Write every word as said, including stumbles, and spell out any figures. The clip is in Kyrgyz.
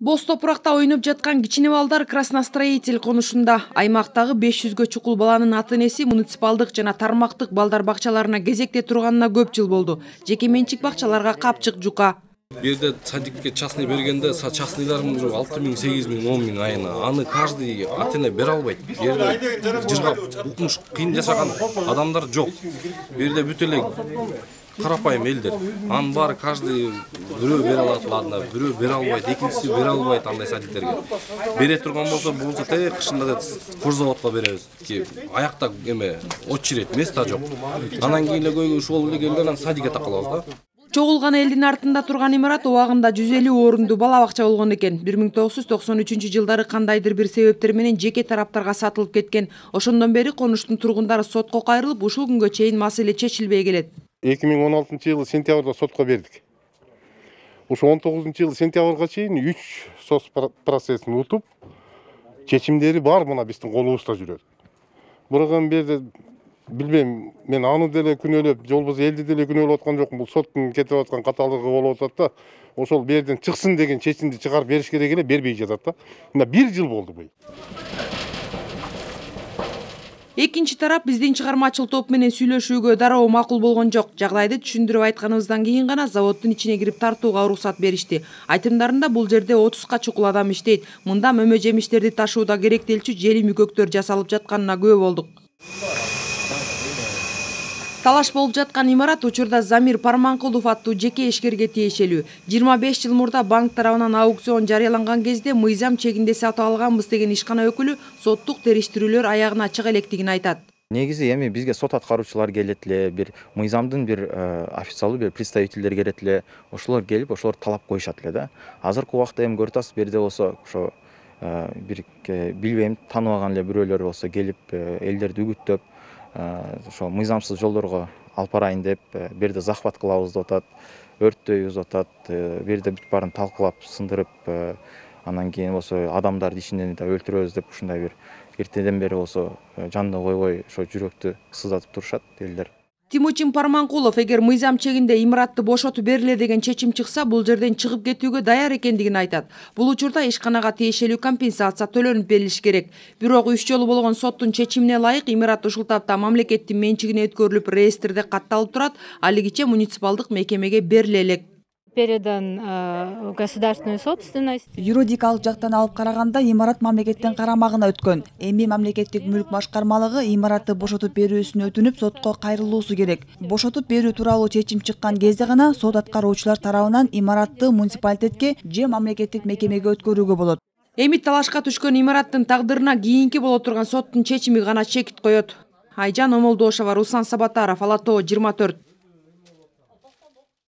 Боз топуракта ойноп жаткан кичине балдар Красностроитель конушунда. Аймактагы беш жүзгө чукул баланын ата-энеси муниципалдык жана тармактык балдар бакчаларына кезекте турганына көп жыл болду. Жеке менчик бакчаларга капчык жука. Бу жерде садикке частный бергенде частныйларын уже алты миң, сегиз миң, он миң айына. Аны каждый ата-эне бере албайт. Бу жерде жыргап, укмуш, кыйын жашаган адамдар жок. Бу жерде бүт эле карапайым элдер. Анын баары каждый бирөө бере алат, ладно, бирөө бере албайт, экинчиси бере албайт андай садиктерге. Бере турган болсо, болсо те кышында кожзаводко беребиз. Аякта эме очередь, места жок. Анан кийин эле көйгөй ушул эле келген, анан садикке такалабыз да. Чогулган элдин артында турган имарат убагында жүз элүү орунду бала бакча болгон экен. бир миң тогуз жүз токсон үчүнчү жылдары кандайдыр бир себептер менен жеке тараптарга сатылып кеткен. Ошондон бери конуштун тургундары сотко кайрылып, ушул күнгө чейин маселе чечилбей келет. эки миң он алтынчы жылы сентябрда сотко бердик. Ушу он тогузунчу жылы сентябрга чейин үч сот процессин утуп, чечимдери бар мына биздин колубузда жүрөт. Бирок эми берде билбейм, мен аны деле күнөөлөп, жолбоз элди деле күнөөлөп аткан жокмун. Бул соттун кетип аткан каталыгы болуп атат да. Ошол берден чыксын деген чечимди чыгарып бериш керек эле, бербей жатат да. Мына бир жыл болду бу. Экинчи тарап биздин чыгармачыл топ менен сүйлөшүүгө дароо макул болгон жок. Жагдайды түшүндүрүп айтканыбыздан кийин гана заводдун ичине кирип тартууга уруксат беришти. Айтымдарында бул жерде отузга чукул адам иштейт. Мында мөмө жемиштерди ташууда керектелчү жели мүкөктөр жасалып жатканына күбө болдук. Талаш болуп жаткан имарат учурда Замир Парманкулов аттуу жеке ишкерге тиешелүү. жыйырма беш жыл мурда банк тарабынан аукцион жарыяланган кезде мыйзам чегинде сатып алганбыз деген ишкана өкүлү соттук териштирүүлөр аягына чыга электигин айтат. Негизи эми бизге сот аткаруучулар келет эле, бир мыйзамдын бир официалдуу бир представительдер келет эле, ошолор келип, ошолор талап коюшат эле да. Азыркы убакта эми көрүп атасыз, берде болсо ошо бир билбейм, тааныбаган эле бирөөлөр болсо келип элдерди үгүттөп, ошо мыйзамсыз жолдорго алып барайын деп, берде захват кылабыз деп атат, өрттөйбүз деп атат, берде бүт баарын талкуулап, сындырып, анан кийин болсо адамдарды ичинен да өлтүрөбүз деп ушундай бир эртеден бери болсо жанды койбой ошо жүрөктү сыздатып турушат элдер. Тимучин Парманкулов эгер мыйзам чегинде имаратты бошотуп бериле деген чечим чыкса, бул жерден чыгып кетүүгө даяр экендигин айтат. Бул учурда ишканага тиешелүү компенсация төлөнүп берилиш керек. Бирок үч жолу болгон соттун чечимине ылайык имарат ушул тапта мамлекеттин менчигине өткөрүлүп, реестрде катталып турат, алигиче муниципалдык мекемеге бериле элек. Передан в государственную собственность. Юридикалык жактан алып караганда имарат мамлекеттин карамагына өткөн. Эми мамлекеттик мүлк башкармалыгы имаратты бошотуп берүүсүн өтүнүп сотко кайрылуусу керек. Бошотуп берүү тууралуу чечим чыккан кезде гана сот аткаруучулар тарабынан имаратты муниципалитетке же мамлекеттик мекемеге өткөрүүгө болот. Эми талашка түшкөн имараттын тагдырына кийинки боло турган соттун чечими гана чекит коет. Айжан Омолдошова, Руслан Сабатаров, Ала Тоо жыйырма төрт.